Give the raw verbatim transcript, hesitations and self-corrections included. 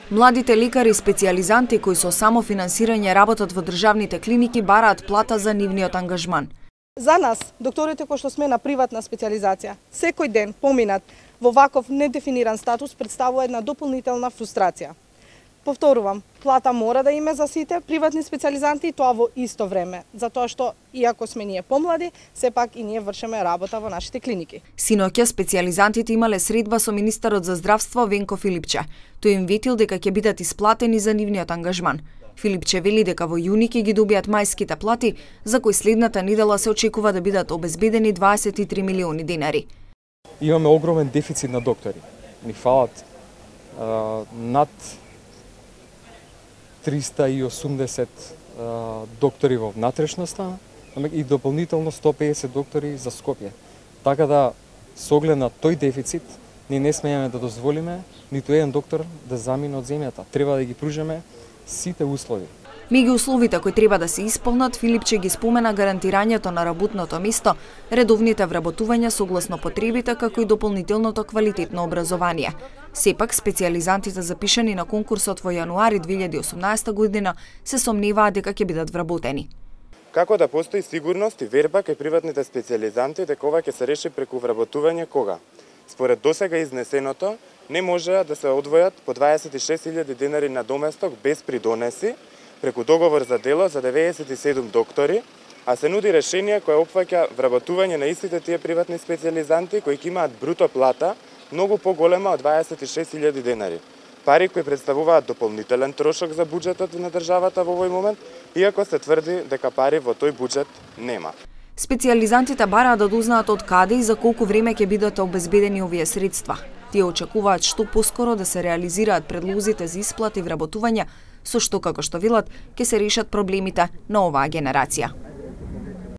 Младите лекари и специјализанти кои со самофинансирање работат во државните клиники бараат плата за нивниот ангажман. За нас, докторите кои што сме на приватна специјализација, секој ден поминат во ваков недефиниран статус представува една дополнителна фрустрација. Повторувам, плата мора да има за сите приватни специјализанти и тоа во исто време, затоа што иако сме ние помлади, сепак и ние вршиме работа во нашите клиники. Синоќа специјализантите имале средба со министерот за здравство Венко Филипче. Тој им ветил дека ќе бидат исплатени за нивниот ангажман. Филипче вели дека во јуни ќе ги добијат мајските плати, за кои следната недела се очекува да бидат обезбедени дваесет и три милиони денари. Имаме огромен дефицит на доктори. Ни фалат а, над триста и осумдесет а, доктори во внатрешноста и дополнително сто и педесет доктори за Скопје. Така да, со оглед на тој дефицит, ние не смееме да дозволиме ниту еден доктор да замине од земјата. Треба да ги пружиме сите услови. Меѓу условите кои треба да се исполнат, Филипче ги спомена гарантирањето на работното место, редовните вработувања согласно потребите, како и дополнителното квалитетно образование. Сепак, специјализантите запишани на конкурсот во јануари две илјади и осумнаесета година се сомневаат дека ќе бидат вработени. Како да постои сигурност и верба кај приватните специјализанти дека ова ќе се реши преку вработување кога? Според досега изнесеното, не може да се одвојат по дваесет и шест илјади денари на доместок без придонеси, преку договор за дело за деветдесет и седум доктори, а се нуди решение кое опфаќа вработување на истите тие приватни специјализанти кои ќе имаат бруто плата многу поголема од дваесет и шест илјади денари. Пари кои представуваат дополнителен трошок за буџетот на државата во овој момент, иако се тврди дека пари во тој буџет нема. Специјализантите бараат да дознаат од каде и за колку време ќе бидат обезбедени овие средства. Тие очекуваат што поскоро да се реализираат предлозите за исплати и вработување, со што, како што велат, ќе се решат проблемите на оваа генерација.